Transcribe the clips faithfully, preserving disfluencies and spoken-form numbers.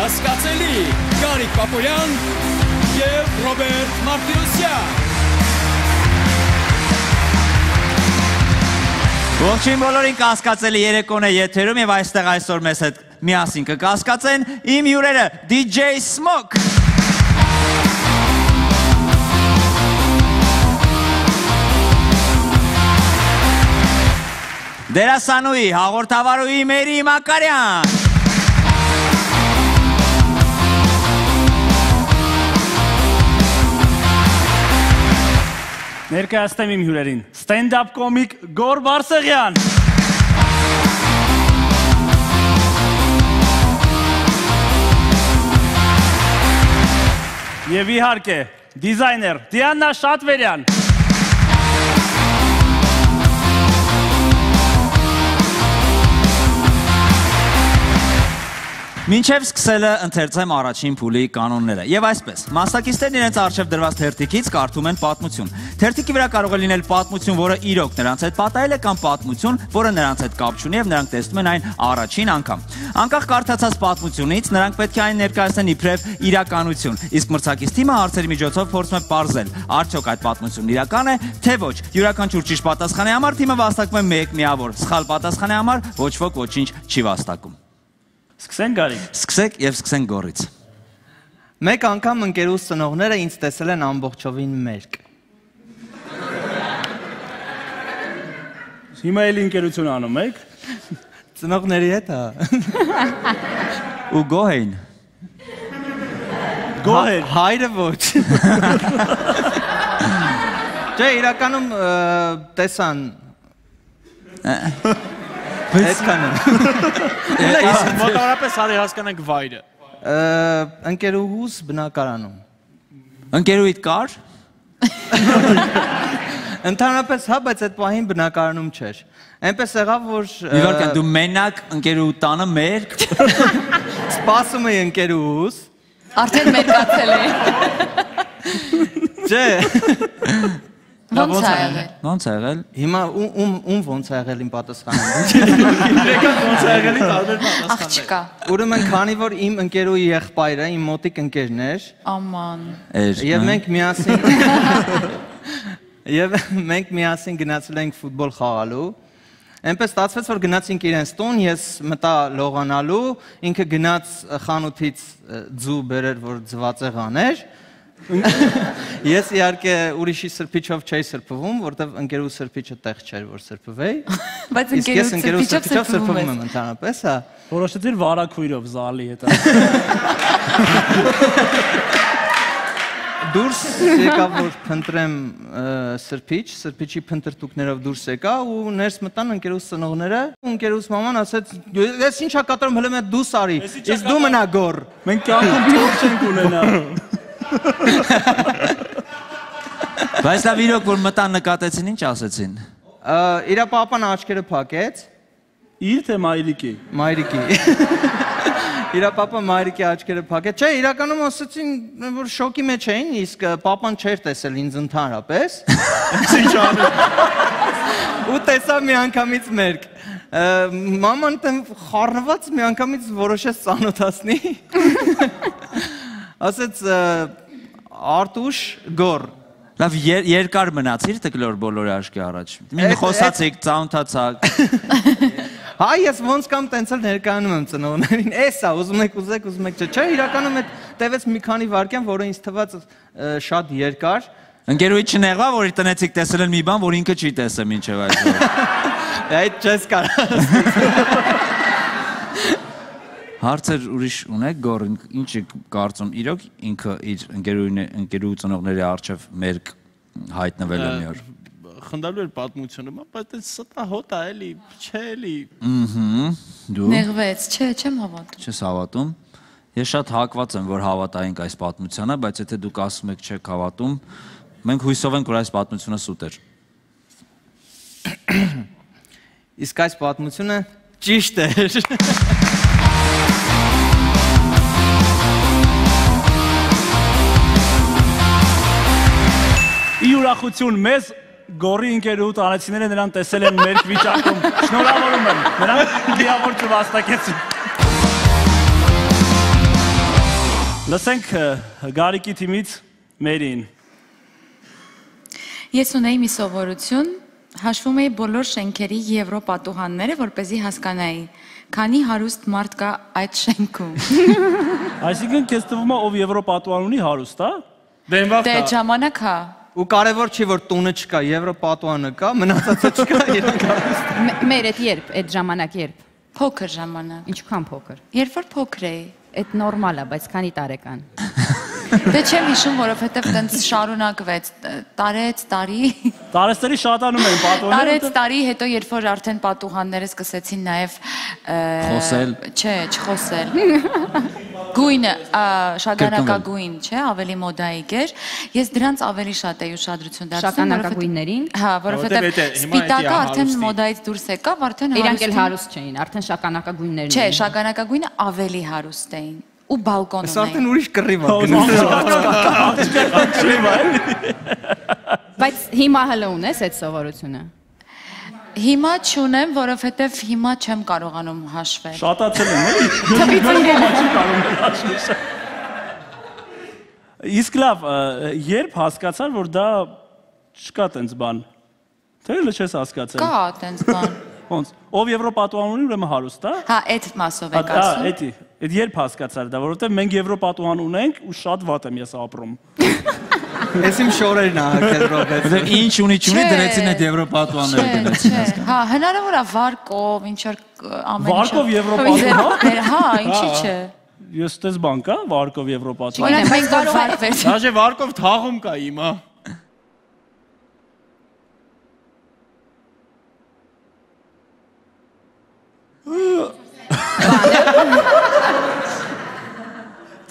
Կասկածելի Գարիկ Պապոյան և Ռոբերտ Մարտիրոսյան։ Ողջույն բոլորին, կասկածելի երեկոն է եթերում և այստեղ այսօր մեզ հետ միասին կկասկածեն իմ հյուրերը դի ջեյ Smoke։ Դերասանուհի, հաղորդավարուհի Մերի Մակարյան։ Ներկայացնեմ իմ հյուրերին, ստենդափ կոմիկ Գոր Բարսեղյան։ Եվ իհարկե, դիզայներ Դիանա Շատվերյան։ Մինչև սկսելը ընթերցեմ առաջին փուլի կանոնները։ Եվ այսպես, մասնակիցներն իրենց առջև դրված թերթիկից կարդում են պատմություն։ Թերթիկի վրա կարող է լինել պատմություն, որը իրոք նրանց հետ պատահել է, կամ պատմություն, որը նրանց հետ կապ չունի և նրանք տեսնում են այն առաջին անգամ։ Անկախ կարդացած պատմությունից նրանք պետք է այն ներկայացնեն իբրև իրականություն, իսկ մրցակից թիմը հարցերի միջոցով փորձում է պարզել, արդյոք այդ պատմությունն իրական է, թե ոչ։ Յուրաքանչյուր ճիշտ պատասխանի համար թիմը վաստակում է մեկ միավոր, սխալ պատասխանի համար ոչ ոք ոչինչ չի վաստակում։ Սկսենք Գարիկ։ Սկսեք և սկսենք Գորից։ Մեկ անգամ ընկերուս ծնողները ինձ տեսել են ամբողջովին մերկ։ Հիմա էլ ընկերություն անում եք։ Ծնողների հետ, հա։ Ու գոհ էին։ Գոհ էր։ Հայրը ոչ։ Չէ, իրականում տեսան։ Այդքանը։ Մոտավորապես արի հասկանանք վայրը։ Ընկերուհուս բնակարանում։ Ընկերուհիդ կար։ Ընդհանրապես հա, բայց այդ պահին բնակարանում չէր։ Այնպես եղավ, որ Իվարկան, դու մենակ ընկերուհու տանը մերկ։ Սպասում էի ընկերուհուս։ Արդեն մերկացել է։ Չէ։ Ոնց է եղել։ Ոնց է եղել։ Հիմա ում ոնց է եղել իմ պատասխանը։ Իրական ոնց է եղել տարբեր պատասխաններ։ Աղջկա։ Ուրեմն քանի որ իմ ընկերուհի եղբայրը իմ մոտիկ ընկերն էր, Աման։ եւ մենք միասին եւ մենք միասին գնացել ենք ֆուտբոլ խաղալու։ Այնպես ստացվեց, որ գնացինք իրենց տուն, ես մտա լողանալու, ինքը գնաց խանութից ձու բերեր, որ ձվածեղան էր։ Ես իհարկե ուրիշի սրբիչով չէի սրբվում, որտեվ ընկերու սրբիչը տեղ չէր, որ սրբվեի։ Բայց Իսկ ես ընկերու ընկերու սրբիչով սրբիչով սրբվում սրբվում եմ ընդհանրապես, հա։ Որոշեցիր վարակույրով զալի հետ։ Դուրս եկավ, որ փնտրեմ սրբիչ, սրբիչի փնտրտուկներով դուրս եկա ու ներս մտան ընկերուս ծնողները, ընկերուս մաման ասեց, ես ինչա կատարում, հələ մեկ դու սարի, իսկ դու մնա գոր։ Մենք կյանքում փող չենք ունենա։ Բայց լավ իրոք, որ մտան նկատեցին, ինչ ասեցին։ Իրա պապան աչքերը փակեց։ Իր թե մայրիկի։ Մայրիկի։ Իրա պապան մայրիկի աչքերը փակեց։ Չէ, իրականում ասեցին, որ շոկի մեջ էին, իսկ պապան չէր տեսել ինձ ընդհանրապես։ Ինչ անում։ Ու տեսավ մի անգամից մերկ։ Մաման տեմ խառնված մի անգամից որոշեց ծանոթացնի։ Ասեց Արտուշ Գոր։ Լավ, երկար մնացիր տկլոր բոլորի աշկի առաջ։ Մին խոսացիք, ծանոթացաք։ Հայ, ես ոնց կամ տենց էլ ներկայանում եմ ծնողներին, էսա, ուզում եք, ուզեք, ուզում եք, չէ, իրականում այդ տևեց մի քանի վայրկյան, որը ինձ թվաց շատ երկար։ Ընկերուհի չնեղվա, որ իր տնեցիք տեսել են մի բան, որ ինքը չի տեսել մինչև այսօր։ Այդ չես կարող։ Հարցեր ուրիշ ունեք, Գոր, ինչ է կարծում, իրոք ինքը իր ընկերուհու ծնողների առջև մերկ հայտնվել է մի օր։ Խնդալու էր պատմությունը, բայց այդ ստա հոտ է էլի, չէ էլի։ Ըհը, դու։ Նեղվեց, չէ, չեմ հավատում։ Չես հավատում։ Ես շատ հակված եմ, որ հավատայինք այս պատմությանը, բայց եթե դուք ասում եք չեք հավատում, մենք հույսով ենք, որ այս պատմությունը սուտ էր։ Իսկ այս պատմությունը ճիշտ էր։ Ի ուրախություն մեզ Գորի ընկերուհու տանեցիները նրան տեսել են մեր վիճակում։ Շնորհավորում եմ։ Նրանք լիավոր չվաստակեցին։ Լսենք Գարիկի թիմից Մերին։ Ես ունեի մի սովորություն, հաշվում էի բոլոր շենքերի եվրոպատուհանները, որպեսզի հասկանայի, քանի հարուստ մարդ կա այդ շենքում։ Այսինքն քեզ թվում է ով եվրոպատուհան ունի հարուստ, հա։ Դենվախ Դե ժամանակ հա։ Ու կարևոր չի որ տունը չկա, եվրոպատուանը կա, մնացածը չկա, իրանք հարուստ։ Մեր այդ երբ, այդ ժամանակ երբ։ Փոքր ժամանակ։ Ինչքան փոքր։ Երբ որ փոքր էի։ Այդ նորմալ է, բայց քանի տարեկան։ Դե չեմ հիշում, որովհետև տենց շարունակվեց, տարեց, տարի։ Տարեստերի շատանում են պատուհանները։ Տարեց, տարի, հետո երբ որ արդեն պատուհանները սկսեցին նաև Խոսել։ Չէ, չխոսել։ Գույնը, շագանակագույն, չէ, ավելի մոդայիկ էր։ Ես դրանց ավելի շատ էի ուշադրություն դարձնում, Շագանակագույններին։ Հա, որովհետև սպիտակը արդեն մոդայից դուրս եկավ, արդեն Իրանք էլ հարուստ չէին, արդեն շագանակագույններն չէ, շագանակագույնը ավելի հարուստ էին ու բալկոն Սա արդեն ունեին։ ուրիշ կռիվ է։ Բայց հիմա հələ ունես այդ սովորությունը։ Հիմա չունեմ, որովհետև հիմա չեմ կարողանում հաշվել։ Շատացել են, էլի։ Թվից ընկել է։ Չի կարող հաշվել։ Իսկ լավ, երբ հասկացար, որ դա չկա տենց բան։ Թե էլ չես հասկացել։ Կա տենց բան։ Ոնց, ով եվրոպատուհան ունի, ուրեմն հարուստ է։ Հա, այդ մասով եք Հա, ասում։ էդի, այդ երբ հասկացար դա, որովհետև մենք եվրոպատուհան ունենք ու շատ վատ եմ ես ապրում։ Ես իմ շորերն ա հակել Ռոբերտ։ Որտեղ ինչ ունի չունի դրեցին այդ եվրոպատուանները Չէ, դրեցին։ չէ։ Հա, հնարավոր է վարկով, ինչ որ ամեն ինչ։ Վարկով եվրոպատուհան։ Հա, ինչի՞ չէ։ Ես տես բան կա, վարկով եվրոպատուհան։ Չգիտեմ, մենք կարող ենք Դաժե վարկով թաղում կա հիմա։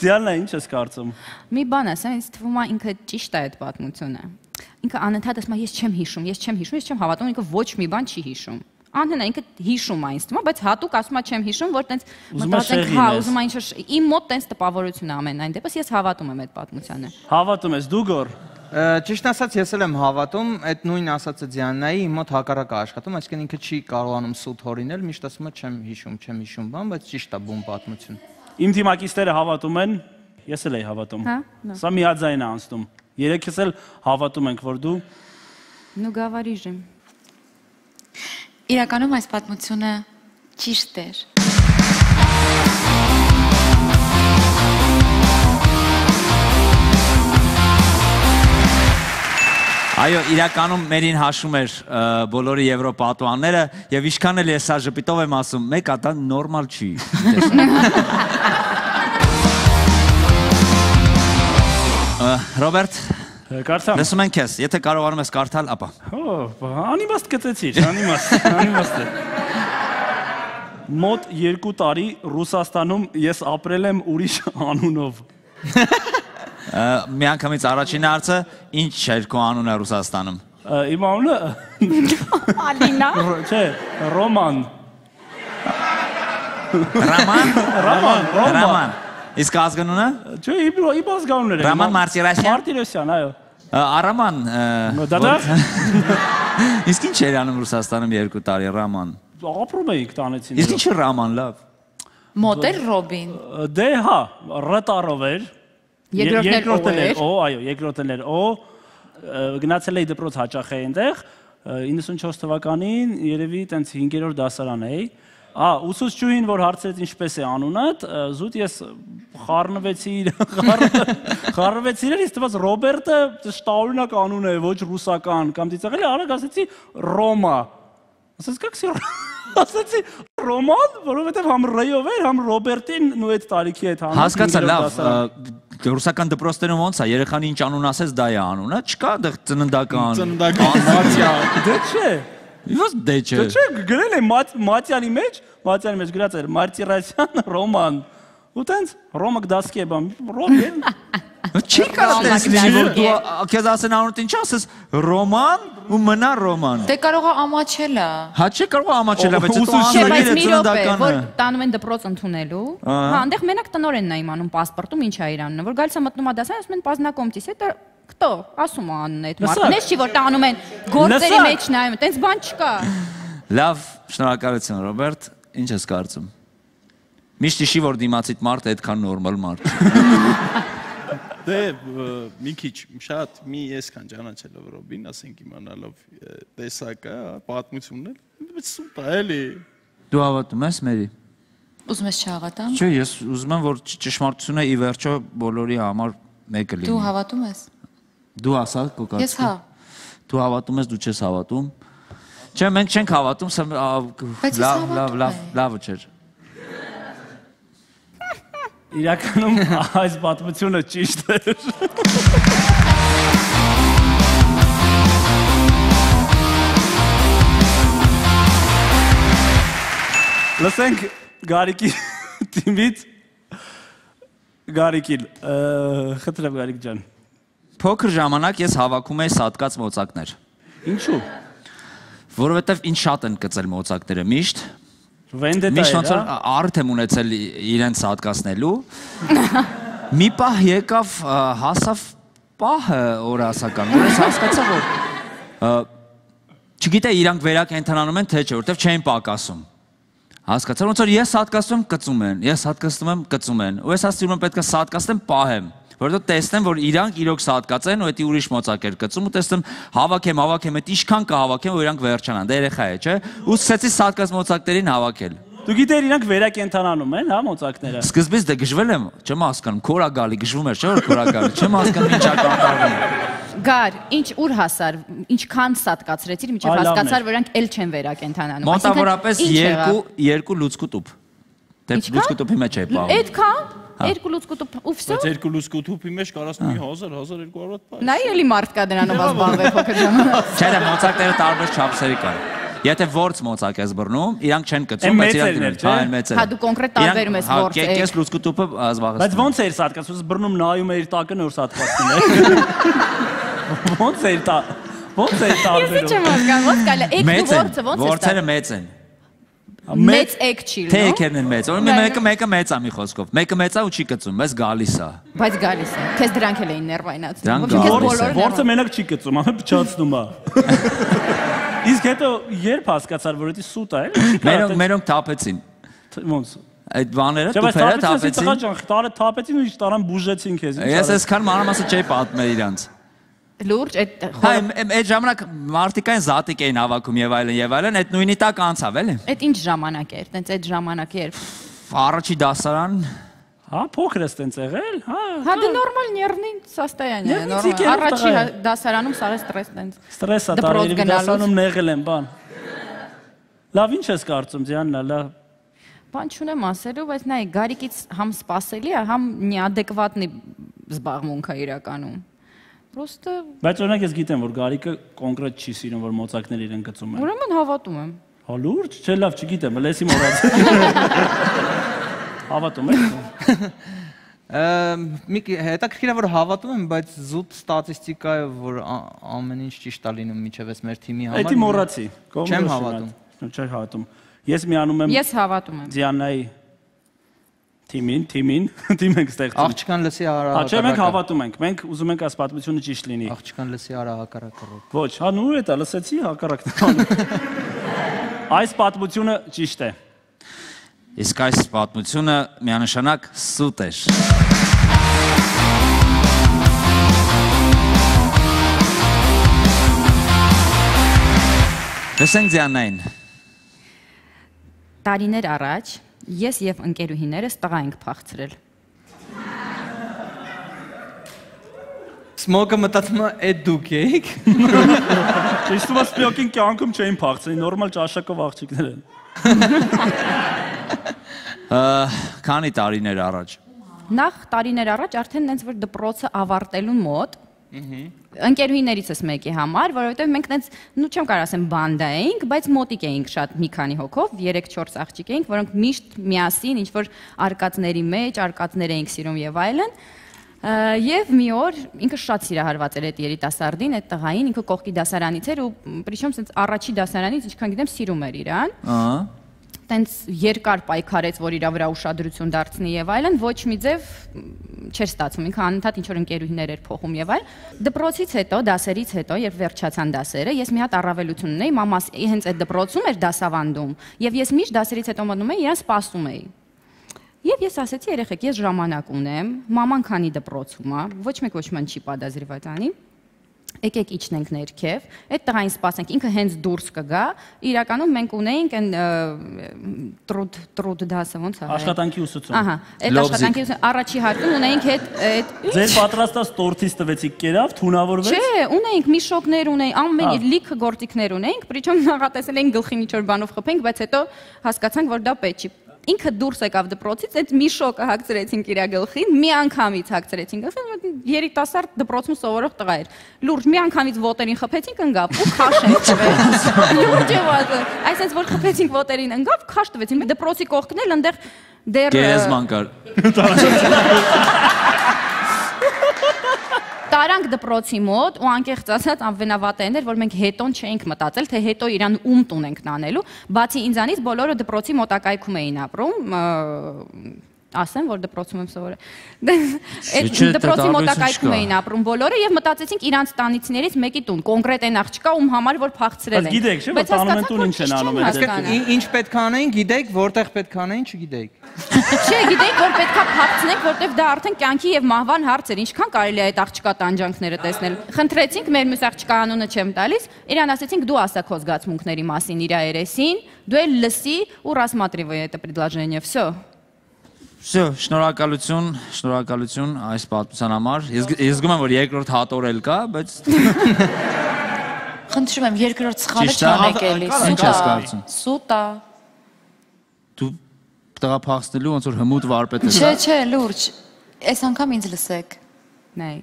Ձյալնա ինչ ես կարծում։ Մի բան ասեմ, ինձ թվում է ինքը ճիշտ է այդ պատմությունը։ Ինքը անընդհատ ասում է ես չեմ հիշում, ես չեմ հիշում, ես չեմ հավատում, ինքը ոչ մի բան չի հիշում։ Անհնա ինքը հիշում է ինձ թվում է, բայց հատուկ ասում է չեմ հիշում, որ տենց մտածենք, հա, ուզում է ինչ-որ իմ մոտ տենց տպավորություն է ամենայն դեպս ես հավատում եմ այդ պատմությանը։ Հավատում ես դու գոր։ Ճիշտ ասած ես էլ եմ հավատում, այդ նույն ասածը Դիանայի իմ մոտ հակառակը աշխատում, այսինքն ինքը չի կարողանում սուտ հորինել, միշտ ասում է չեմ հիշում, չեմ հիշում բան, բայց ճիշտ է բուն պատմություն։ Իմ թիմակիցները հավատում են, ես էլ էի հավատում։ Հա։ Սա միաձայն է անցնում։ Երեքս էլ հավատում ենք, որ դու Ну говоришь. Իրականում այս պատմությունը ճիշտ էր։ Այո, իրականում մերին հաշում էր բոլորի եվրոպատուանները եւ ինչքան էլ ես սա ժպիտով եմ ասում, մեկը դա նորմալ չի։ Ռոբերտ, կարծամ։ լսում ենք քեզ, եթե կարողանում ես կարդալ, ապա։ Օ, անիմաստ կծեցիր, անիմաստ, անիմաստ է։ Մոտ երկու տարի Ռուսաստանում ես ապրել եմ ուրիշ անունով։ Մի անգամից առաջին հարցը, ինչ էր քո անունը Ռուսաստանում։ Իմ անունը Ալինա։ Չէ, Ռոման։ Ռաման, Ռոման, Ռոման։ Ռաման։ Իսկ ազգանունը։ Չէ, իմ ազգանունն էր։ Ռաման Մարտիրոսյան։ Մարտիրոսյան, այո։ Արաման։ Դադա։ Իսկ ինչ էր անում Ռուսաստանում երկու տարի Ռաման։ Ապրում էինք տանեցին։ Իսկ ինչ է Ռաման, լավ։ Մոտ էր Ռոբին։ Դե հա, ռտարով էր։ Երկրորդն էր։ Օ, այո, երկրորդն էր։ Օ, գնացել էի դպրոց հաճախ էի այնտեղ, իննսունչորս թվականին երևի տենց հինգերորդ դասարան էի։ Ա, ուսուցչուհին, որ հարցրեց ինչպես է անունդ, զուտ ես խառնվեցի, խառնվեցի իրար, ինձ թվաց Ռոբերտը շտաօրինակ անուն է, ոչ ռուսական, կամ ծիծաղելի, արագ ասեցի Ռոմա։ Ասես как все ասեցի Ռոման, որովհետև համ Ռեյով էր, համ Ռոբերտին նույն այդ տարիքի հետ հանում։ Հասկացա, լավ, ռուսական դպրոցներում ոնց է, երեխան ինչ անուն ասես, դա է անունը, չկա դեռ ծննդական։ Ծննդական Մատիա։ Դե չէ։ Ո՞ս դե չէ։ Դե չէ, գրել է Մատյանի մեջ, Մատյանի մեջ գրած էր Մարտիրոսյան Ռոման։ Ու տենց Ռոմա գդասկի է բան, Ռոբեն։ Չի կարող տես լինի, որ դու քեզ ասեն անունդ ինչ ասես, Ռոման ու մնա Ռոման։ Դե կարող է ամաչելը։ Հա չէ կարող ամաչելա, բայց Ուսուցիչ դու Չէ, բայց անձնագիր մի րոպե, ծննդականը։ որ տանում են դպրոց ընդունելու։ Հա, այնտեղ մենակ տնորենն է իմանում պասպորտում ինչ է իր անունը, որ գալիս է մտնում է դասարան, ասում են познакомьтесь, это кто? Ասում է անունը այդ մարդը։ Նես չի որ տանում են գործերի մեջ նայում, տենց բան չկա։ Լավ, շնորհակալություն Ռոբերտ, ինչ ես կարծում։ Միշտ իշի որ դիմացիդ մարդ այդքան նորմալ մարդ։ Դե մի քիչ շատ մի այսքան ճանաչելով Ռոբին, ասենք իմանալով տեսակը, պատմությունն էլ, բայց սուտ է էլի։ Դու հավատում ես Մերի։ Ուզում ես չհավատամ։ Չէ, ես ուզում եմ որ ճշմարտությունը ի վերջո բոլորի համար մեկը լինի։ Դու հավատում ես։ Դու ասա կոկաց։ Ես հա։ Դու հավատում ես, դու չես հավատում։ Չէ, մենք չենք հավատում, լավ, լավ, լավ, լավը չէր։ Իրականում այս պատմությունը ճիշտ էր։ Լսենք Գարիկի թիմից Գարիկին, խնդրեմ Գարիկ ջան։ Փոքր ժամանակ ես հավաքում էի սատկած մոծակներ։ Ինչու՞։ Որովհետև ինչ շատ են կծել մոծակները միշտ։ Վենդետա Միշտ է, ոնց որ առիթ եմ ունեցել իրենց սատկացնելու։ Մի պահ եկավ հասավ պահը օրասական, որ ես հասկացա որ չգիտե իրանք վերակենդանանում են թե չէ, որովհետև չեն պակասում։ Հասկացա ոնց որ ես սատկացնում կծում են, ես սատկացնում եմ կծում են։ Ու ես ասում եմ պետք է սատկացնեմ պահեմ, որովհետև տեսնեմ որ իրանք իրոք սատկած են ու դա ուրիշ մոծակեր կծում ու տեսնեմ հավաքեմ, հավաքեմ, այդ ինչքան կհավաքեմ որ իրանք վերջանան, դա երեխա է, չէ։ Ու սկսեցի սատկած մոծակներին հավաքել։ Դու գիտեր իրանք վերակենդանանում են, հա, մոծակները։ Սկզբից դե գժվել եմ, չեմ հասկանում, քորա գալի գժվում էր, չէ՞ որ քորա գալի, չեմ հասկանում ինչա կատարվում։ Գար, ինչ ուր հասար, ինչքան սատկացրեցիր, միջև հասկացար, որ իրանք էլ չեն վերակենդանանում։ Մոտավորապես երկու լուցկու տուփ։ Դե լուցկու տուփի մեջ է պահում։ Այդքան երկու լուցկու տուփ ու վсё։ Բայց երկու լուցկու տուփի մեջ կարաս մի հազար, հազար երկու հարյուր պայս։ Նա էլի մարդ կա դրանով ազբաղվել փոքր ժամանակ։ Չէ, դա մոծակները տարբեր չափսերի կան։ Եթե որց մոծակ ես բռնում, իրանք չեն կծում, բայց իրանք հա, մեծ են։ Հա դու կոնկրետ տարբերում ես որց։ Հա, կես լուցկու տուփը ազբաղեցնում։ Բայց ոնց էր սատկացում, բռնում նայում էր տակը նոր սատկացնում էր։ Ոնց էր տա։ Ոնց էր Ես տարբերում։ չեմ հասկանում, ոնց կալը, եք դու որցը ոնց է։ Որցերը մեծ են։ Մեծ եք չի, Թե նո։ եկերն են մեծ։ Օրինակ մեկը մեկը մեծ է մի խոսքով։ Մեկը մեծ է ու չի կծում, բայց գալիս է։ Բայց գալիս է։ Քեզ դրանք էլ էին ներվայնացնում։ Դրանք Որցը մենակ չի կծում, ամեն փչացնում է։ Իսկ հետո երբ հասկացար, որ դա սուտ է, էլի։ Մերոնք մերոնք թափեցին։ Ոնց։ Այդ բաները Չէ, բայց տուփերը թափեցին, թափեցին։ տարը թափեցին ու ինչ տարան բուժեցին քեզ։ Ես այսքան մանրամասը չէի պատմել իրանց։ Լուրջ այդ Հա, այդ ժամանակ մարտիկային զատիկ էին հավաքում եւ այլն եւ այլն, այդ նույնի տակ անցավ, էլի։ այդ ինչ ժամանակ էր, տենց այդ ժամանակը երբ։ Առաջի դասարան։ Հա, փոքր ես տենց եղել, հա։ Հա դե նորմալ նервный состояние, նորմալ։ Առաջի դասարանում սարը ստրես տենց։ Ստրեսա տարերի դասարանում նեղել եմ, բան։ Լավ, ինչ ես կարծում, Դիանա, լավ։ Բան չունեմ ասելու, բայց նայ Գարիկից համ սпасելի է, համ неадекватный զբաղմունք է իրականում։ Պրոստը Բայց օրինակ ես գիտեմ, որ Գարիկը կոնկրետ չի սիրում, որ մոծակներ իրեն գծում են։ ուրեմն հավատում եմ։ Հա լուրջ, չէ, լավ, չգիտեմ, լեսի մոռաց։ Հավատում եք։ Մի հետաքրքիր է որ հավատում եմ, բայց զուտ ստատիստիկայով որ ամեն ինչ ճիշտ է լինում միջև էս մեր թիմի համար։ Էդի մոռացի։ Չեմ հավատում։ Չեմ հավատում։ Ես միանում եմ Ես հավատում եմ։ Դիանայի թիմին, թիմին, թիմ ենք ստեղծում։ Աղջկան լսի արա Հա, չէ, մենք հավատում ենք։ Մենք ուզում ենք այս պատմությունը ճիշտ լինի։ Աղջկան լսի արա հակառակը։ Ոչ, հա նու է դա, լսեցի հակառակն։ Այս պատմությունը ճիշտ է։ Իսկ այս պատմությունը միանշանակ սուտ էր։ Լսենք Դիանային։ Տարիներ առաջ ես եւ ընկերուհիներս տղա ենք փախցրել։ Սմոկը մտածում է այդ դուք եք։ Իսկ դու սպյոկին կյանքում չէին փախցրի, նորմալ ճաշակով աղջիկներ են։ Քանի տարիներ առաջ։ Նախ տարիներ առաջ արդեն նենց որ դպրոցը ավարտելուն մոտ ընկերուհիներիցս մեկի համար, որովհետև մենք նենց, նու չեմ կարող ասեմ բանդա էինք, բայց մոտիկ էինք շատ մի քանի հոգով, երեք-չորս աղջիկ էինք, որոնք միշտ միասին ինչ որ արկածների մեջ, արկածներ էինք սիրում եւ այլն։ Եվ մի օր ինքը շատ սիրահարված էր այդ երիտասարդին, այդ տղային, ինքը կողքի դասարանից էր ու պրիչոմ սենց առաջի դասարանից ինչքան գիտեմ սիրում էր իրան։ Ահա։ Տենց երկար պայքարեց, որ իր վրա ուշադրություն դարձնի եւ այլն, ոչ մի ձև չէր ստացվում։ Ինքը անընդհատ ինչ որ ընկերուհիներ էր փոխում եւ այլ։ Դպրոցից հետո, դասերից հետո, երբ վերջացան դասերը, ես մի հատ առավելություն ունեի, մամաս հենց այդ դպրոցում էր դասավանդում, եւ ես միշտ դասերից հետո մտնում էի, իրան սպասում էի։ Եվ ես ասեցի երեխեք, ես ժամանակ ունեմ, մաման քանի դպրոցում է, ոչ մեկ ոչ ման չի պատասխանիվատ անի։ Եկեք իջնենք ներքև, այդ տղային սպասենք, ինքը հենց դուրս կգա, իրականում մենք ունեինք այն տրուդ տրուդ դասը ոնց է։ Աշխատանքի ուսուցում։ Ահա, այդ աշխատանքի ուսուցում առաջի հարկում ունեինք այդ Ձեր պատրաստած տորթից տվեցիք կերավ, թունավորվեց։ Չէ, ունեինք միշոկներ ունեինք, ամեն լիքը գործիքներ ունեինք, причем նախատեսել էինք գլխի մի չոր բանով խփենք, բայց հետո հասկացանք, որ դա պետք չի։ Ինքը դուրս եկավ դպրոցից, այդ մի շոկը հագցրեցինք իր գլխին, մի անգամից հագցրեցինք գլխին, երիտասարդ դպրոցում սովորող տղա էր։ Լուրջ մի անգամից ոտերին խփեցինք, ընկավ ու քաշ ենք տվել։ Լուրջ է վազը։ Այսինքն որ խփեցինք ոտերին, ընկավ, քաշ տվեցին։ Դպրոցի կողքն էլ այնտեղ դեռ Գերեզման կար։ Տարանք դպրոցի մոտ ու անկեղծ ասած ամենավատեն էր, որ մենք հետոն չէինք մտածել, թե հետո իրան ում տուն ենք տանելու, բացի ինձանից բոլորը դպրոցի մոտակայքում էին ապրում, ասեմ, որ դպրոցում եմ սովորել։ Այդ դպրոցի մոտակայքում էին ապրում բոլորը եւ մտածեցինք իրանց տանիցներից մեկի տուն, կոնկրետ այն աղջկա, ում համար որ փախցրել են։ Գիտեք, չէ՞, որ տանում են տուն ինչ են անում այդ։ Ինչ պետք է անեին, գիտեք, որտեղ պետք է անեին, չգիտեիք։ Չէ, գիտեիք, որ պետքա փախցնենք, որտեվ դա արդեն կյանքի եւ մահվան հարց էր, ինչքան կարելի է այդ աղջկա տանջանքները տեսնել։ Խնդրեցինք, մեր մյուս աղջկա անունը չեմ տալիս, իրան ասեցինք դու ասա քո զգացմունքների մասին իր երեսին, դու էլ լսի ու рассматривай это предложение, всё։ Всё, շնորհակալություն, շնորհակալություն այս պատմության համար։ Ես զգում եմ, որ երկրորդ հատորել կա, բայց Խնդրում եմ, երկրորդ սխալը չանեք էլի։ Ինչ ես կարծում։ Սուտ է։ Դու տղա փախստելու ոնց որ հմուտ վարպետ ես։ Չէ, չէ, լուրջ։ Այս անգամ ինձ լսեք։ Նայ,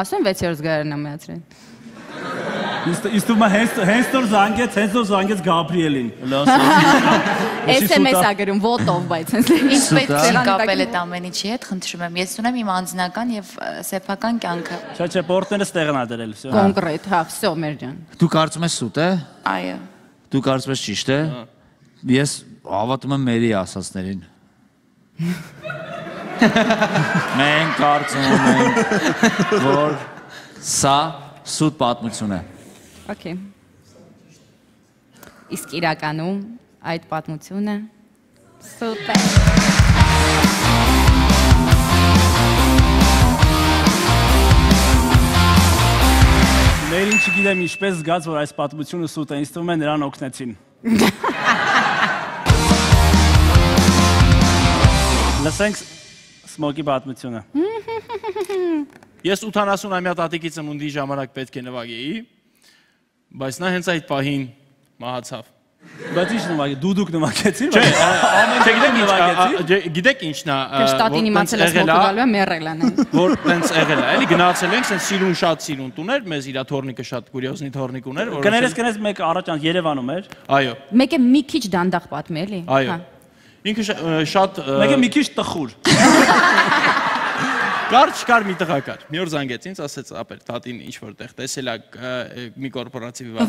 ասում վեցերորդ զգարն ամյացրեն։ Իսկ դու հենց հենց դոր զանգեց, հենց դոր զանգեց Գաբրիելին։ էս էմ էս ագրում ոտով, բայց հենց ինչպես է կապել այդ ամեն ինչի հետ, խնդրում եմ։ Ես ունեմ իմ անձնական եւ սեփական կյանքը։ Չէ, չէ, պորտները ստեղն ա դրել, всё։ Կոնկրետ, հա, всё, մեր ջան։ Դու կարծում ես սուտ է։ Այո։ Դու կարծում ես ճիշտ է։ Ես հավատում եմ մերի ասածներին։ Մենք կարծում ենք, որ սա սուտ պատմություն է։ Okay։ Իսկ իրականում այդ պատմությունը սուտ է։ Մերին չգիտեմ ինչպես զգաց, որ այս պատմությունը սուտ է, ինձ թվում է նրան օգնեցին։ Լսենք Սմոկի պատմությունը։ Ես ութանասունամյա տատիկի ծնունդի ժամանակ պետք է նվագեի, բայց նա հենց այդ պահին մահացավ։ Բայց ի՞նչ նվագի, դու դուք նվագեցի՞ր։ Չէ, ամեն նվագեցի։ Գիտեք ի՞նչն է։ Կշտատին իմացել է Սմոկը գալու է մեռել են։ Որ տենց եղել է, էլի գնացել ենք, սենց սիրուն շատ սիրուն տուներ, մեզ իր թորնիկը շատ կուրիոզնի թորնիկ ուներ, որ Կներես, կներես մեկ առաջ Երևանում էր։ Այո։ Մեկը մի քիչ դանդաղ պատմի էլի։ Այո։ Ինքը շատ Մեկը մի քիչ տխուր։ Կար չկար մի տղա կար։ Մի օր զանգեց ինձ, ասեց ապեր, տատին ինչ որտեղ տեսել է մի կորպորատիվի վար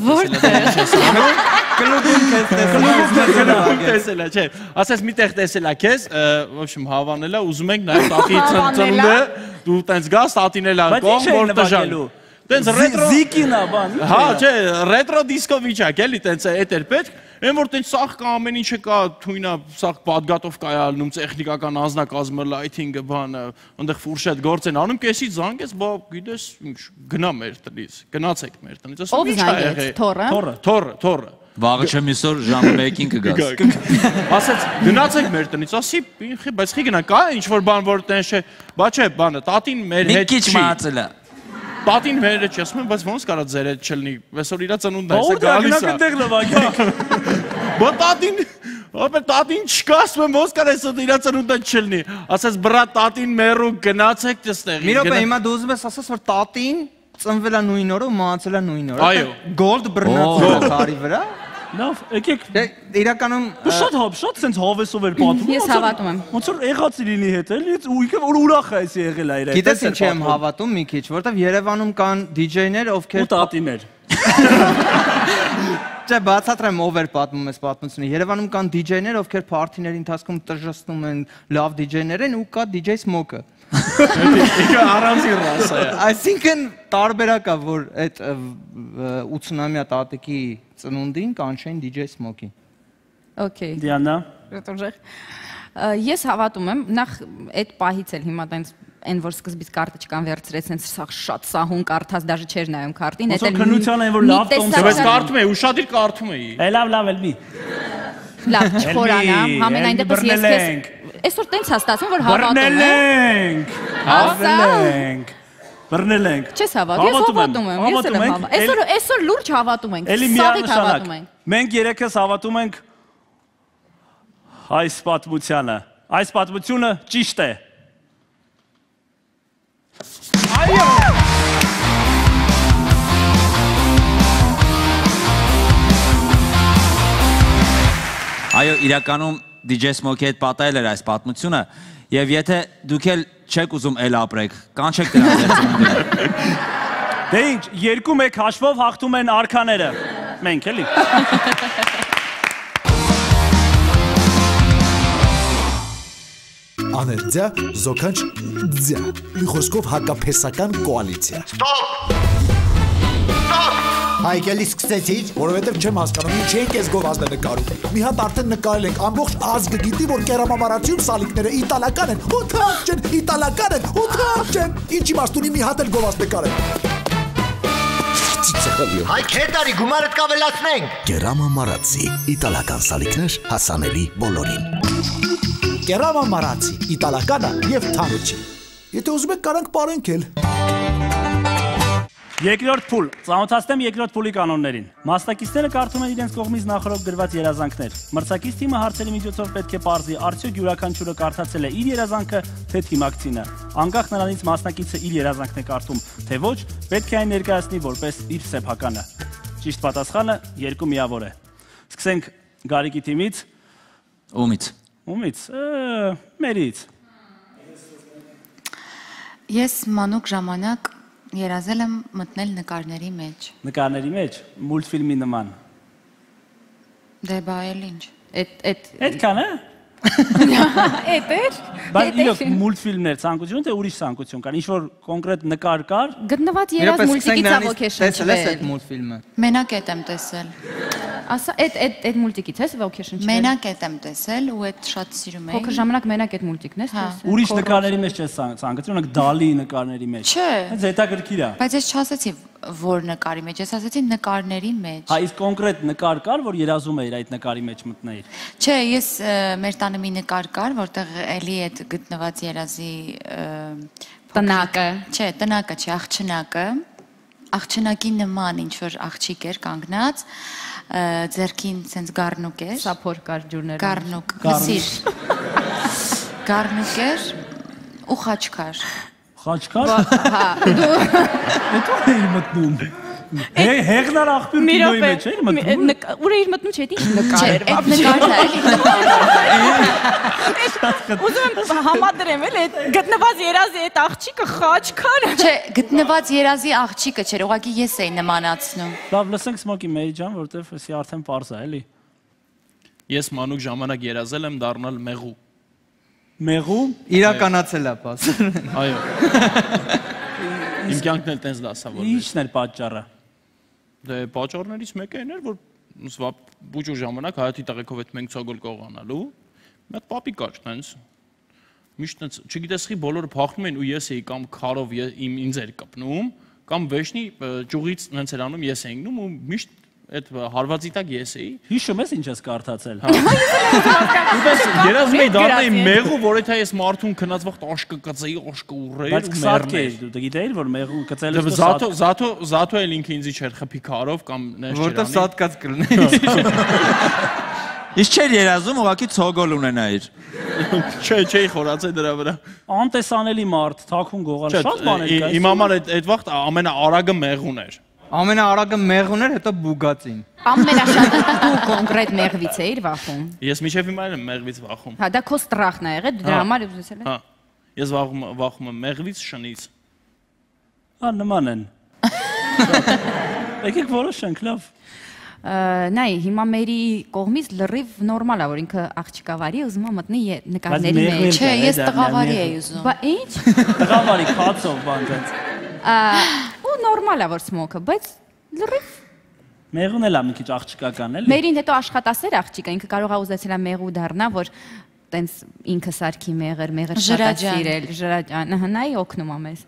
տեսել է, չէ։ Ասեց մի տեղ տեսել է քեզ, в общем հավանել է, ուզում ենք նաև տատի ծնունդը, դու տենց գաս տատին էլ անկողմ, որ տժալու։ Տենց ռետրո Զիկինա բան։ Հա, չէ, ռետրո դիսկո վիճակ էլի, տենց էդ էր պետք։ Այն որ տենց սաղ կա ամեն ինչը կա, թույնա սաղ պատգատով կայալնում, տեխնիկական անձնակազմը, լայթինգը, բանը, այնտեղ ֆուրշետ գործ են անում, կեսից զանգեց, բա գիտես, գնա մեր տնից, գնացեք մեր տնից։ Ով զանգեց, թորը։ Թորը, թորը։ Վաղը չեմ իսօր ժամը մեկին կգաս։ Ասեց գնացեք մեր տնից, ասի, բայց խի գնա, կա ինչ որ բան որ տենց չէ, բա չէ, բանը, տատին մեր հետ չի։ Մի քիչ մահացել է։ Տատին մեր հետ չի, ասում եմ, բայց ոնց կարա ձեր հետ չլինի, այսօր իրա ծնունդն է, սա գալիս է։ Այնտեղ նվագեք։ Բա տատին, ապա տատին չկա, ասում եմ, ոնց կարա այսօր իրա ծնունդը չլինի։ Ասես բրա տատին մերու գնացեք դստեղ։ Մի րոպե, հիմա դու ուզում ես ասես, որ տատին ծնվել է նույն օրը ու մահացել է նույն օրը։ Այո։ Գոլդ բռնացել է քարի վրա։ Լավ, եկեք։ Իրականում շատ հավ, շատ sense հավեսով էր պատմում։ Ես հավատում եմ։ Ոնց որ եղած լինի հետ էլի, ու ինքը որ ուրախ է էսի եղել է իր հետ։ Գիտես ինչ եմ հավատում մի քիչ, որովհետև Երևանում կան դիջեյներ, ովքեր ու տատիներ։ Չէ, բացատրեմ ով էր պատմում այս պատմությունը։ Երևանում կան դիջեյներ, ովքեր փարթիների ընթացքում տժժտում են, լավ դիջեյներ են ու կա դիջեյ Սմոկը։ Ինքը առանձին ռասա է։ Այսինքն տարբերակ է, որ այդ ութսունամյա տատիկի ծնունդին կանչեն դիջեյ Սմոկի։ Okay։ Դիանա։ Ռետորժեղ։ Ես հավատում եմ, նախ այդ պահից էլ հիմա տենց այն որ սկզբից կարտը չկան վերցրեց, հենց սա շատ սահուն կարդաց, դաժե չէր նայում քարտին, այդ էլ քննության այն որ լավ տոմս Բայց կարդում էի, ուշադիր կարդում էի։ Է լավ, լավ էլ մի։ Լավ, չխորանամ, համենայն դեպս ես քեզ այսօր տենց հաստատում որ հավատում եմ։ Բռնելենք։ Բռնելենք։ Չես հավատում, ես հավատում եմ, ես էլ եմ հավատում։ Այսօր այսօր լուրջ հավատում ենք, սաղիթ հավատում ենք։ Մենք երեքս հավատում ենք այս պատմությանը։ Այս պատմությունը ճիշտ է։ Այո։ Այո, իրականում դի ջեյ Smoke-ի հետ պատահել էր այս պատմությունը, եւ եթե դուք էլ չեք ուզում էլ ապրեք, կանչեք դրանց ծնունդին։ Դե ինչ, երկու մեկ հաշվով հաղթում են արքաները։ Մենք էլի։ Աներձյա, զոքանչ ձյա, մի խոսքով հակափեսական կոալիցիա։ Ստոպ! Ստոպ! Հայկելի սկսեցիր, որովհետև չեմ հասկանում, ինչ ենք ես գովազդը նկարում։ Մի հատ արդեն նկարել ենք, ամբողջ ազգը գիտի, որ կերամամարացիում սալիկները իտալական են, ու թարջ են, իտալական են, ու թարջ են։ Ինչ իմաստ ունի մի հատ էլ գովազդ նկարել։ Հայ քետարի գումարդ կավելացնենք։ Կերամամարացի, իտալական սալիկներ հասանելի բոլորին։ Կերամամարացի, իտալականը և թանուչի։ Եթե ուզում եք կարանք պարենք էլ։ Երկրորդ փուլ, ծանոթացնեմ երկրորդ փուլի կանոններին։ Մասնակիցները կարդում են իրենց կողմից նախորդ գրված երազանքներ։ Մրցակից թիմը հարցերի միջոցով պետք է պարզի, արդյոք յուրաքանչյուրը կարդացել է իր երազանքը, թե թիմակցինը։ Անկախ նրանից մասնակիցը իր երազանքն է կարդում, թե ոչ, պետք է այն ներկայացնի որպես իր սեփականը։ Ճիշտ պատասխանը երկու միավոր է։ Սկսենք Գարիկի թիմից։ Ումից։ Ումից, մերից։ Ես մանուկ ժամանակ երազել եմ մտնել նկարների մեջ։ Նկարների մեջ, մուլտֆիլմի նման։ Դե բա էլ ինչ։ Այդ Այդքան է։ Էդ էր։ Բայց իրոք մուլտֆիլմներ ցանկություն թե ուրիշ ցանկություն կան, ինչ որ կոնկրետ նկար կար։ Գտնված երազ մուլտիկից avocation Տեսել ես այդ մուլտֆիլմը։ Մենակ էդ եմ տեսել։ Ասա, այդ այդ այդ մուլտիկից ես avocation չվել։ Մենակ էդ եմ տեսել ու այդ շատ սիրում էի։ Փոքր ժամանակ մենակ այդ մուլտիկն ես տեսել։ Ուրիշ նկարների մեջ չես ցանկացել, օրինակ Դալի նկարների մեջ։ Չէ։ Հենց հետաքրքիր է։ Բայց ես չասեցի որ նկարի մեջ, ես ասեցի նկարների մեջ։ Հա, իսկ կոնկրետ նկար կար, որ երազում էիր այդ նկարի մեջ մտնել։ Չէ, ես մեր տանը մի նկար կար, որտեղ էլի այդ գտնված երազի տնակը։ Չէ, տնակը չէ, աղջնակը։ Աղջնակի նման ինչ որ աղջիկ էր կանգնած, ձեռքին սենց գառնուկ էր։ Սափոր կար ջուրները։ Գառնուկ, հսիր։ Գառնուկ էր ու խաչքար։ Խաչքար։ Հա։ Դու էի մտնում։ Հեղնար աղբյուր կինոյի մեջ էի մտնում։ Ուր էի մտնում, չէ՞, ինչ նկար էր։ Այդ նկարն է։ Ուզում եմ համադրեմ էլ այդ գտնված երազի այդ աղջիկը խաչքար։ Չէ, գտնված երազի աղջիկը չէր, ուղղակի ես էի նմանացնում։ Լավ, լսենք Smoke-ի Mary ջան, որտեվ էսի արդեն պարզ է, էլի։ Ես մանուկ ժամանակ երազել եմ դառնալ մեղու։ Մեղու։ Իրականացել է պասը։ Այո։ Իմ կյանքն էլ տենց դասավորվեց։ Ինչն էր պատճառը։ Դե պատճառներից մեկը այն էր, որ սվա բուջուր ժամանակ հայաթի տղեկով այդ մենք ցոգոլ կողանալու։ Մի հատ պապի կար տենց։ Միշտ տենց, չգիտես խի բոլորը փախնում են ու ես էի կամ քարով իմ ինձ էր կպնում, կամ վեշնի ճյուղից տենց էր անում ես էի գնում ու միշտ այդ հարվածի տակ ես էի։ Հիշում ես ինչ ես կարդացել։ Ուպես երազում էի դառնայի մեղու, որ եթե ես մարդուն քնած վաղ աշկը կծեի, աշկը ուռեի ու մեռներ։ Դու գիտեիր որ մեղու կծել ես Զաթո Զաթո Զաթո էլ ինքը ինձի չէր խփի քարով կամ նես չերանի։ Որտեվ սատկած կլներ։ Իսկ չէր երազում ուղղակի ցոգոլ ունենայիր։ Չէ, չէի խորացել դրա վրա։ Անտեսանելի մարդ, թաքուն գողալ, շատ բաներ կա։ Իմ համար այդ այդ վաղ ամենաարագը մեղուն էր։ Ամենաարագը մեղուն էր, հետո բուգացին։ Ամենաշատը դու կոնկրետ մեղվից էիր վախում։ Ես միշտ հիմա եմ մեղվից վախում։ Հա, դա քո ստրախն է եղել, դրա համար ուզեցել ես։ Հա։ Ես վախում վախում եմ մեղվից, շնից։ Հա, նման են։ Եկեք որոշենք, լավ։ Նայ, հիմա մերի կողմից լրիվ նորմալ է, որ ինքը աղջիկավարի ուզում է մտնի նկարների մեջ։ Չէ, ես տղավարի էի ուզում։ Բա ի՞նչ։ Տղավարի քացով բան դից։ Ու նորմալ է որ Smoke-ը, բայց լրիվ Մեղուն էլ է մի քիչ աղջիկական էլի։ Մերին հետո աշխատասեր աղջիկը, ինքը կարող է ուզեցել է մեղու դառնա, որ տենց ինքը սարքի մեղր, մեղր շատ սիրել, ժրաջան, հնայի օգնում ա մեզ։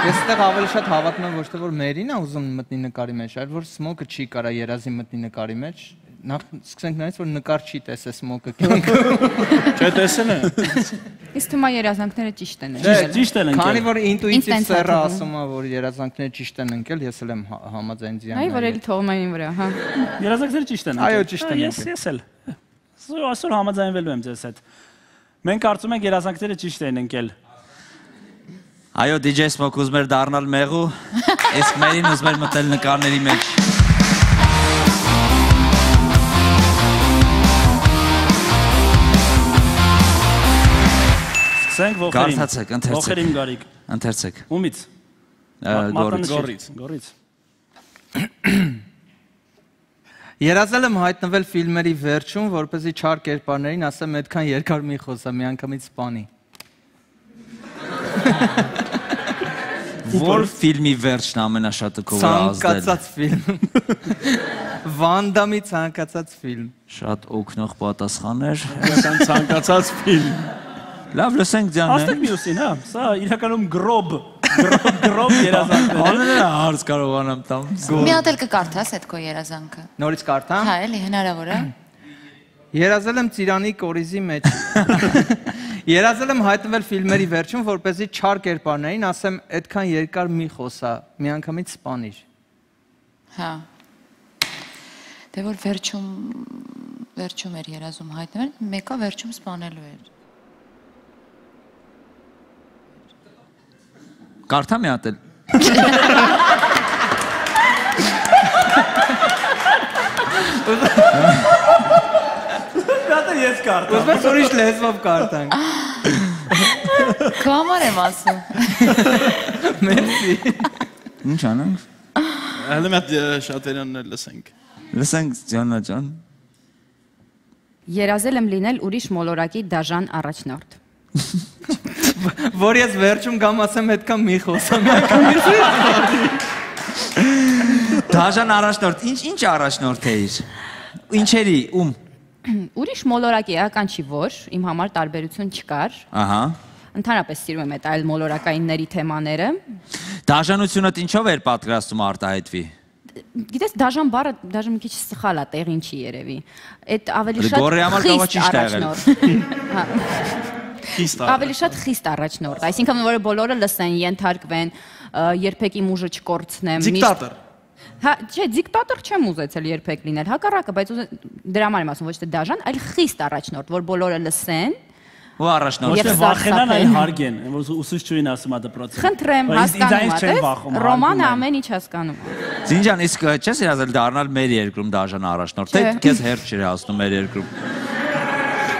Ես այդտեղ ավելի շատ հավատում եմ ոչ թե որ Մերին ա ուզում մտնի նկարի մեջ, այլ որ Սմոկը չի կարա երազի մտնի նկարի մեջ։ Նախ սկսենք նայից որ նկար չի տեսել Սմոկը կյանքում։ Չէ, տեսել է։ Իսկ թվում է երազանքները ճիշտ են։ Չէ, ճիշտ են ընկել։ Քանի որ ինտուիտիվ սերը ասում է որ երազանքները ճիշտ են ընկել, ես էլ եմ համաձայն ձյան։ Այ որ էլի թողում այն վրա, հա։ Երազանքները ճիշտ են։ Այո, ճիշտ են։ Ես ես էլ։ Այսօր համաձայնվելու եմ ձեզ հետ։ Մենք կարծում ենք երազանքները ճիշտ են ընկել։ Այո, դի ջեյ Smoke ուզում էր դառնալ մեղու, իսկ Մերին ուզում էր մտնել նկարների մեջ։ Սկսենք ողերին։ Կարդացեք, ընթերցեք։ Ողերին Գարիկ։ Ընթերցեք։ Ումից։ Գորից։ Գորից։ Գորից։ Երազել եմ հայտնվել ֆիլմերի վերջում, որպեսզի չար կերպարներին ասեմ այդքան երկար մի խոսա, միանգամից սպանի։ Որ ֆիլմի վերջն ամենաշատը քո վրա ազդել։ Ցանկացած ֆիլմ։ Վան Դամի ցանկացած ֆիլմ։ Շատ օգնող պատասխաններ։ Իրական ցանկացած ֆիլմ։ Լավ, լսենք ձյանը։ Աստեղ մյուսին, հա, սա իրականում գրոբ, գրոբ երազանքներ է։ Անունը հարց կարողանամ տամ։ Մի հատ էլ կկարդաս այդ քո երազանքը։ Նորից կարդամ։ Հա, էլի հնարավոր է։ Երազել եմ Ծիրանի կորիզի մեջ։ Երազել եմ հայտնվել ֆիլմերի վերջում, որպեսզի չար կերպարներին ասեմ այդքան երկար մի խոսա, միանգամից սպանիր։ Հա։ Դե որ վերջում վերջում էր երազում հայտնվել, մեկը վերջում սպանելու էր։ Կարդա մի հատ էլ։ Դա ես կարդամ։ Ուզում ես ուրիշ լեզվով կարդանք։ Քո համար եմ ասում։ Մերսի։ Ինչ անենք։ Հələ մատ շատերն էլ լսենք։ Լսենք Ջանա ջան։ Երազել եմ լինել ուրիշ մոլորակի դաժան առաջնորդ։ Որ ես վերջում գամ ասեմ այդքան մի խոսամ։ Դաժան առաջնորդ, ինչ ինչ առաջնորդ էիր։ Ինչերի, ում։ Ուրիշ մոլորակի էական չի որ, իմ համար տարբերություն չկար։ Ահա։ Ընդհանրապես սիրում եմ այդ այլ մոլորակայինների թեմաները։ Դաժանությունդ ինչով էր պատկերացնում արտահայտվի։ Գիտես, դաժան բառը դաժան մի քիչ սխալ է, տեղին չի երևի։ Այդ ավելի շատ Գորի համար կարող է ճիշտ եղել։ Ավելի շատ խիստ առաջնորդ, այսինքն որ բոլորը լսեն, ենթարկվեն, երբեք իմ ուժը չկորցնեմ։ Դիկտատոր։ Հա, չէ, դիկտատոր չեմ ուզեցել երբեք լինել, հակառակը, բայց դրա համար եմ ասում ոչ թե դաժան, այլ խիստ առաջնորդ, որ բոլորը լսեն։ Ու առաջնորդ։ Ոչ թե վախենան, այլ հարգեն, որ ուսուցչուհին ասում է դպրոցը։ Խնդրեմ, հասկանում եք, Ռոմանը ամեն ինչ հասկանում։ Զինջան, իսկ չես երազել դառնալ մեր երկրում դաժան առաջնորդ, թե քեզ հերթ չի հասնում մեր երկրում։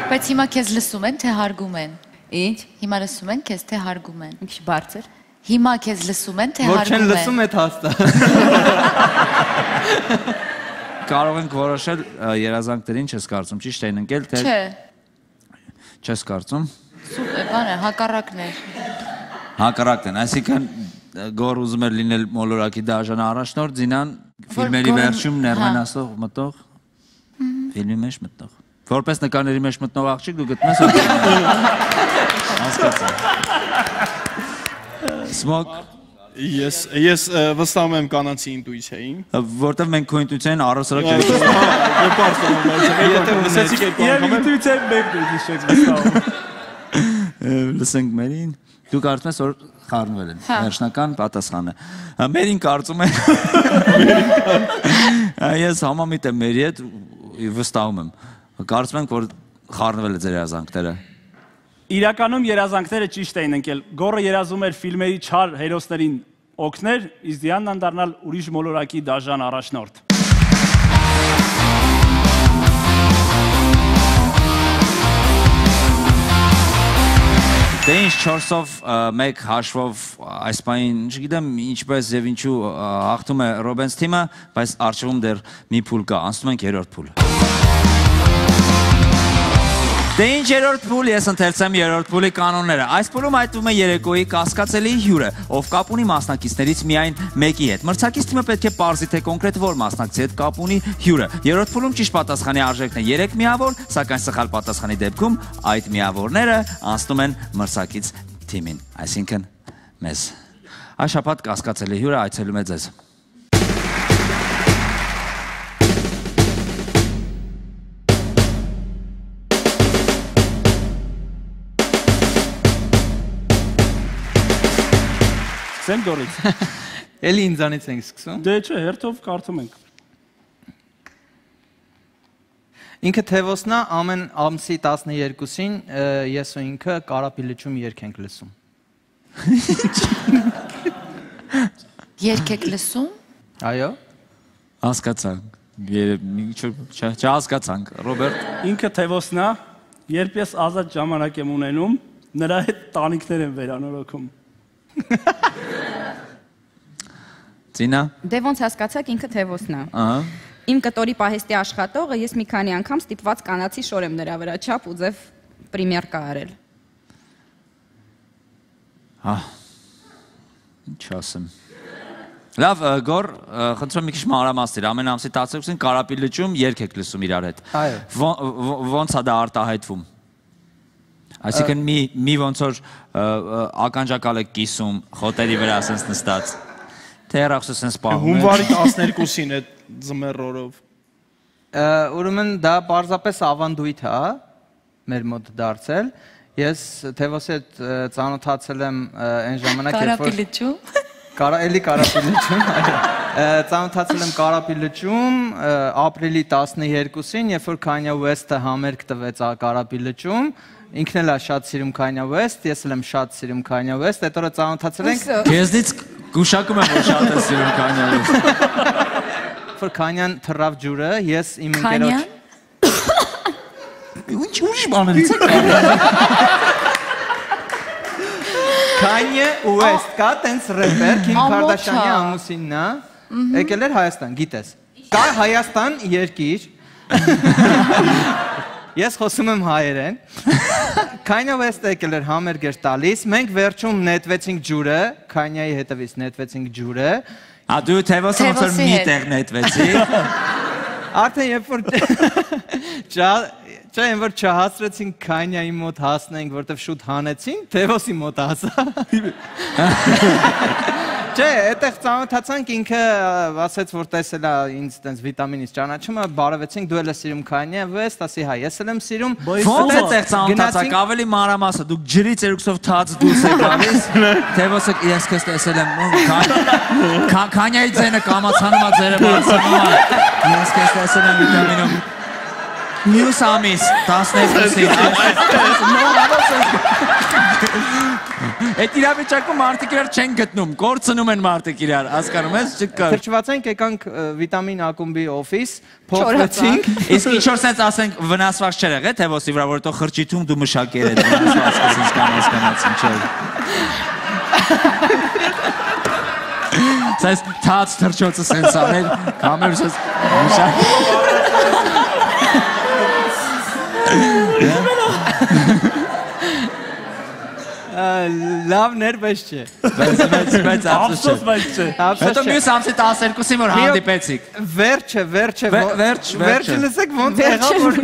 Բայց հիմա քեզ լսում են, թե հարգում են։ Ինչ։ Հիմա լսում են քեզ, թե հարգում են։ Մի քիչ բարձր։ Հիմա քեզ լսում են, թե Որ հարգում չեն են։ լսում այդ հաստատ։ Կարող ենք որոշել երազանքներին չես կարծում, ճիշտ էին ընկել, թե Չէ։ չես կարծում։ Սուպեր, բան է, հակառակներ։ Հակառակն են, այսինքն Գոր ուզում էր լինել մոլորակի դաժան առաջնորդ, Զինան ֆիլմերի վերջում ներմենասող մտող, ֆիլմի մեջ մտնող։ Որպես նկարների մեջ մտնող աղջիկ դու գտնում ես հասկացա։ Smoke Ես ես վստահում եմ կանանցի ինտուիցիային։ Որտեվ մենք քո ինտուիցիային առհասարակ չենք վստահում։ Եթե լսեցիք այդ Եվ ինտուիցիան մեկ դու դիշեք վստահում։ Լսենք Մերին։ Դու կարծում ես որ խառնվել են։ Վերջնական պատասխանը։ Մերին կարծում է։ Ես համամիտ եմ Մերի հետ վստահում եմ։ Կարծում ենք որ խառնվել է ձեր երազանքները։ Իրականում երազանքները ճիշտ էին ընկել։ Գորը երազում էր ֆիլմերի չար հերոսներին օգներ, իսկ Դիանան դառնալ ուրիշ մոլորակի դաժան առաջնորդ։ Դե ինչ չորսով մեկ հաշվով այս պայն չգիտեմ ինչպես եւ ինչու հաղթում է Ռոբենս թիմը, բայց արժևում դեռ մի փուլ կա, անցնում ենք երրորդ փուլ։ Դե ինչ երրորդ փուլ, ես ընթերցեմ երրորդ փուլի կանոնները։ Այս փուլում այդվում է երեկոյի կասկածելի հյուրը, ով կապ ունի մասնակիցներից միայն մեկի հետ։ Մրցակից թիմը պետք է պարզի, թե կոնկրետ որ մասնակցի հետ կապ ունի հյուրը։ Երրորդ փուլում ճիշտ պատասխանի արժեքն է երեք միավոր, սակայն սխալ պատասխանի դեպքում այդ միավորները անցնում են մրցակից թիմին, այսինքն մեզ։ Այս շաբաթ կասկածելի հյուրը այցելում է ձեզ։ Սեմ դորից։ Էլի ինձանից ենք սկսում։ Դե չէ, հերթով կարդում ենք։ Ինքը Թևոսնա ամեն ամսի տասներկուսին ես ու ինքը կարապի լճում երգ ենք լսում։ Երգ եք լսում։ Այո։ Հասկացանք։ Չհասկացանք, Ռոբերտ։ Ինքը Թևոսնա, երբ ես ազատ ժամանակ եմ ունենում, նրա հետ տանիքներ եմ վերանորոգում։ Ծինա։ Դե ոնց հասկացաք ինքը Թևոսնա։ Ահա։ Իմ կտորի պահեստի աշխատողը ես մի քանի անգամ ստիպված կանացի շոր եմ նրա վրա չափ ու ձև պրեմիերկա արել։ Հա։ Ինչ ասեմ։ Լավ, Գոր, խնդրում մի քիչ մանրամասներ, ամեն ամսի տասներկուսին կարապի լճում երգ եք լսում իրար հետ։ Այո։ Ոնց է դա արտահայտվում։ Այսինքն մի մի ոնց որ ականջակալ եք կիսում, խոտերի վրա ասենց նստած։ Թե երախսը սենց պահում եք։ Հունվարի տասներկուսին այդ ձմեռորով։ Ուրեմն դա պարզապես ավանդույթ է մեր մոտ դարձել։ Ես Թևոսի հետ ծանոթացել եմ այն ժամանակ, երբ որ Կարապի լճում։ Կարա էլի Կարապի լճում։ Ծանոթացել եմ Կարապի լճում ապրիլի տասներկուսին, երբ որ Kanye West-ը համերգ տվեց Կարապի լճում։ Ինքն էլ է շատ սիրում Kanye West, ես էլ եմ շատ սիրում Kanye West, այդ օրը ծանոթացել ենք։ Քեզնից գուշակում եմ, որ շատ ես սիրում Kanye West։ Որ Kanye-ն թռավ ջուրը, ես իմ ընկերոջ Ինչ ուրիշ բաներից եք։ Kanye West կա տենց ռեպեր, Քիմ Քարդաշյանի ամուսինն է, եկել էր Հայաստան, գիտես։ Կա Հայաստան երկիր։ Ես խոսում եմ հայերեն։ Kanye West-ը եկել էր համերգ էր տալիս, մենք վերջում նետվեցինք ջուրը, Kanye-ի հետևից նետվեցինք ջուրը։ Ա դու Թևոսը ոնց որ մի տեղ նետվեցի։ Արդեն երբ որ Չէ, այն որ չհասրեցինք Kanye-ի մոտ հասնենք, որտեվ շուտ հանեցին, Թևոսի մոտ հասա։ Չէ, այդտեղ ծանոթացանք, ինքը ասեց, որ տեսել է ինձ տենց վիտամինից ճանաչում է, բարևեցինք, դու էլ ես սիրում Kanye West, ասի հա, ես էլ եմ սիրում։ Ոնց այդտեղ ծանոթացաք, ավելի մանրամասը, դուք ջրի ծերուկսով թաց դուրս եք գալիս։ Թևոսը ես քեզ տեսել եմ, Kanye-ի ձենը կամացանում է, ձերը բարձրանում է։ Ես քեզ տեսել եմ վիտամինում։ Մյուս ամիս տասներկուսին։ Այդ իրավիճակում մարդիկ իրար չեն գտնում, կորցնում են մարդիկ իրար, հասկանում ես, չկար։ Թրջված ենք, եկանք վիտամին ակումբի օֆիս, փոխվեցինք։ Իսկ ինչ որ սենց ասենք վնասված չէր եղել Թևոսի վրա, որովհետեւ խրճիթում դու մշակեր այդ վնասվածքը սենց կամ հասկանացին չէ։ Սենց թաց թրջոցը սենց անել, կամեր սենց մշակ։ Լավն էր, բայց չէ։ Բայց Ափսոս բայց չէ։ Հետո մյուս ամսի տասներկուսին որ հանդիպեցիք։ Վերջը, վերջը, Վերջ, վերջը լսեք ոնց եղավ, որ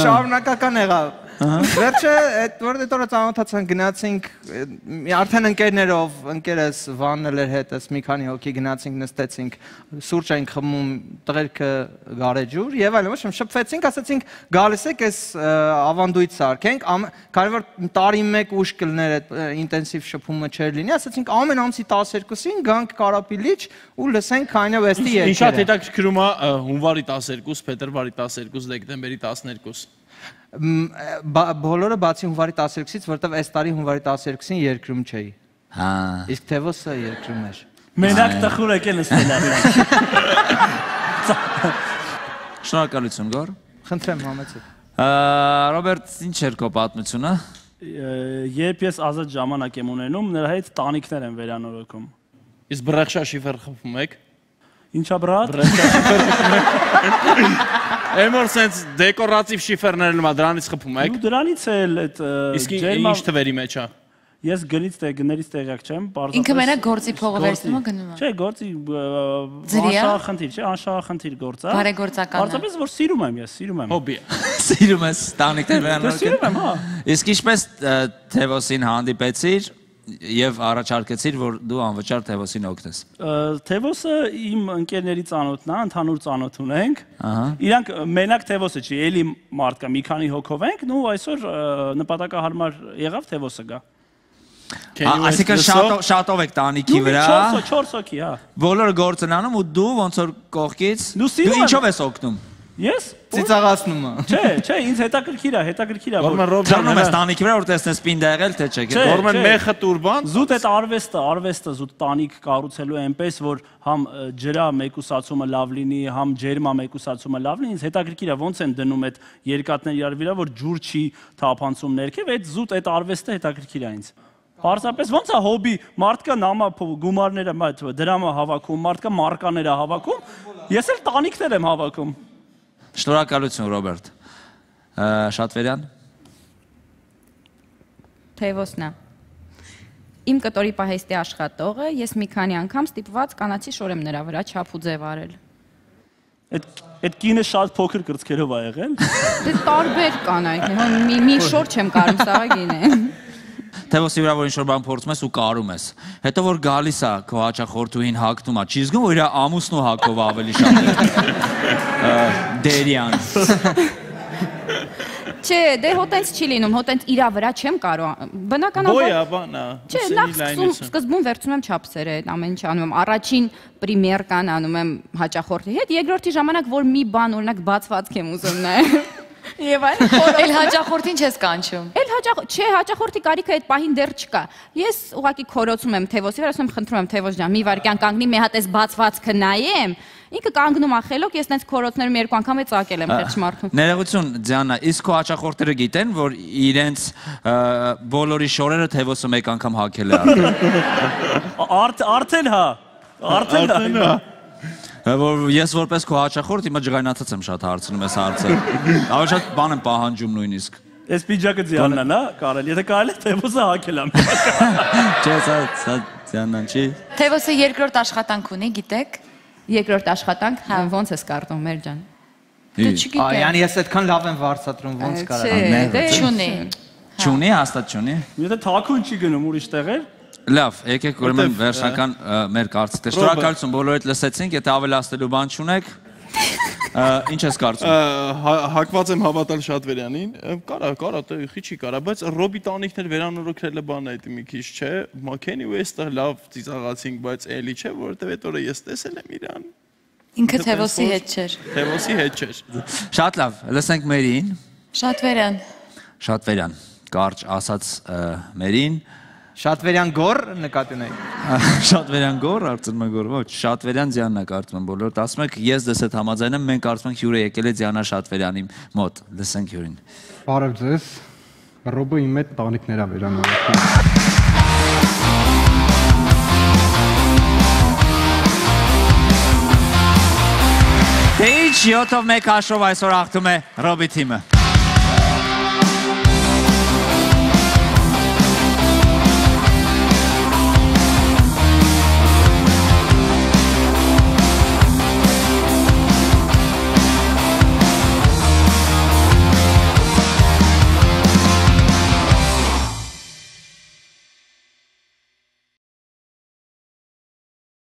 շարունակական եղավ։ Վերջը այդ որ դե տորը ծանոթացանք, գնացինք արդեն ընկերներով, ընկերս Վանն էր հետս մի քանի հոգի գնացինք, նստեցինք, սուրճ այնք խմում, տղերքը գարեջուր եւ այլն, ոչ շփվեցինք, ասացինք գալիս եք այս ավանդույթ սարքենք, կարևոր տարի մեկ ուշ կլներ այդ ինտենսիվ շփումը չէր լինի, ասացինք ամեն ամսի տասներկուսին գանք Կարապի լիճ ու լսենք Kanye West-ի երգերը։ Ինչ շատ հետաքրքրում է հունվարի տասներկուս, փետրվարի տասներկուս, դեկտեմբերի տասներկուս։ Բոլորը բացի հունվարի տասներկուսից, որտեվ այս տարի հունվարի տասներկուսին երկրում չէի։ Հա։ Իսկ Թևոսը երկրում էր։ Մենակ տխուր եկել նստել արել։ Շնորհակալություն, Գոր։ Խնդրեմ, համեցեք։ Ռոբերտ, ինչ էր քո պատմությունը։ Երբ ես ազատ ժամանակ եմ ունենում, նրա հետ տանիքներ եմ վերանորոգում։ Իսկ բրեխշա շիֆեր խփում եք։ Ինչա բրատ։ Էմոր սենց դեկորատիվ շիֆերներ նմա դրանից խփում եք։ Ու դրանից էլ այդ Իսկ ինչ թվերի մեջ է։ Ես գնից տեղ գներից տեղյակ չեմ, պարզապես։ Ինքը մենակ գործի փողը վերցնում ու գնում է։ Չէ, գործի անշահախնդիր, չէ, անշահախնդիր գործ է։ Բարեգործական է։ Պարզապես որ սիրում եմ ես, սիրում եմ։ Հոբի է։ Սիրում ես տանիքներ վերանորոգել։ Սիրում եմ, հա։ Իսկ ինչպես Թևոսին հանդիպեցիր եւ առաջարկեցիր, որ դու անվճար Թևոսին օգնես։ Թևոսը իմ ընկերների ծանոթն է, ընդհանուր ծանոթ ունենք։ Ահա։ Իրանք մենակ Թևոսը չի, էլի մարդ կա, մի քանի հոգով ենք, ու այսօր նպատակահարմար եղավ Թևոսը գա։ Այսինքն շատով եք տանիքի վրա։ չորս հոգի, հա։ Բոլորը գործ են անում ու դու ոնց որ կողքից Դու սիրում ինչով ես օգնում։ Ես Ծիծաղացնում է։ Չէ, չէ, ինձ հետաքրքիր է, հետաքրքիր է։ Ժառնում ես տանիքի վրա որ տեսնես պինդա եղել թե չէ։ Գորմեն մեխը տուրբան։ Զուտ այդ արվեստը, արվեստը զուտ տանիք կառուցելու այնպես որ համ ջրա մեկուսացումը լավ լինի, համ ջերմա մեկուսացումը լավ լինի, ինձ հետաքրքիր է ոնց են դնում այդ երկաթները իրար վրա որ ջուր չի թափանցում ներքև, այդ զուտ այդ արվեստը հետաքրքիր է ինձ։ Պարզապես ոնց է հոբի, մարդկա նամա գումարները, դրամը հավաքում, մարդկա մարկաները հավաքում, ես էլ տանիքներ եմ հավաքում։ Շնորհակալություն Ռոբերտ։ Շատվերյան։ Թևոսնա։ Իմ կտորի պահեստի աշխատողը, ես մի քանի անգամ ստիպված կանացի շոր եմ նրա վրա չափ ու ձև արել։ Այդ կինը շատ փոքր կրծքերով ա եղել։ Դե տարբեր կանայք, մի մի շոր չեմ կարում, սա գինե։ Թևոսի վրա որ ինչ-որ բան փորձում ես ու կարում ես։ Հետո որ գալիս է քո հաճախորդուհին հագնում է, չի զգում որ իր ամուսնու հագով ավելի շատ դերյան։ Չէ, դե հոտենց չի լինում, հոտենց իրա վրա չեմ կարող։ Բնականաբար։ Բոյա բանա։ Չէ, նախ սկզբում վերցնում եմ չափսերը, այդ ամեն ինչ անում եմ։ Առաջին պրեմիերկան անում եմ հաճախորդի հետ, երկրորդի ժամանակ որ մի բան օրինակ բացվածք եմ ուզում նայել։ Եվ այլ Էլ հաճախորդին չես կանչում։ Էլ հաճախ, չէ, հաճախորդի կարիքը այդ պահին դեռ չկա։ Ես ուղղակի քորոցում եմ Թևոսի վրա, ասում եմ, խնդրում եմ Թևոս ջան, մի վայրկյան կանգնի, մի հատ էս բացվածքը նայեմ։ Ինքը կանգնում է խելոք, ես նենց քորոցներում երկու անգամ է ծակել եմ խեղճ մարդուն։ Ներողություն, Դիանա, իսկ քո հաճախորդները գիտեն, որ իրենց բոլորի շորերը Թևոսը մեկ անգամ հագել է արդեն։ Արդեն հա։ Արդեն հա։ Որ ես որպես քո հաճախորդ հիմա ջղայնացած եմ շատ հարցնում ես հարցը։ Ավելի շատ բան եմ պահանջում նույնիսկ։ Այս պիջակը Դիանան է, կարել, եթե կարել է Թևոսը հագել եմ։ Չէ, սա սա Դիանան չի։ Թևոսը երկրորդ աշխատանք ունի, գիտեք։ Երկրորդ աշխատանք, ոնց ես կարդում, մեր ջան։ Դու չգիտես։ Այ, ես այդքան լավ եմ վարձատրում, ոնց կարա։ Չունի։ Չունի, հաստատ չունի։ Եթե թաքուն չի գնում ուրիշ տեղեր։ Լավ, եկեք ուրեմն վերջնական մեր կարծիքը։ Շնորհակալություն բոլորիդ լսեցինք, եթե ավելացնելու բան չունեք, ինչ ես կարծում։ Հակված եմ հավատալ Շատվերյանին, կարա, կարա, տեղի չի կարա, բայց Ռոբի տանիքներ վերանորոգելը բան է դա մի քիչ չէ, Մաքենի ու էստեղ լավ ծիծաղացինք, բայց էլի չէ, որովհետև այդ օրը ես տեսել եմ իրան։ Ինքը Թևոսի հետ չէր։ Թևոսի հետ չէր։ Շատ լավ, լսենք Մերին։ Շատվերյան։ Շատվերյան, կարճ ասած Մերին։ Շատվերյան գոր նկատի ունեք։ Շատվերյան գոր, արդեն մը գոր, ոչ, Շատվերյան Դիանա կարծում եմ բոլորդ ասում եք, ես դες հետ համաձայն եմ, մենք կարծում ենք հյուրը եկել է Դիանա Շատվերյանի մոտ, լսենք հյուրին։ Բարև ձեզ, Ռոբը իմ հետ տանիքներ ա վերանորոգում։ Դե ինչ յոթով մեկ հաշվով այսօր հաղթում է Ռոբի թիմը։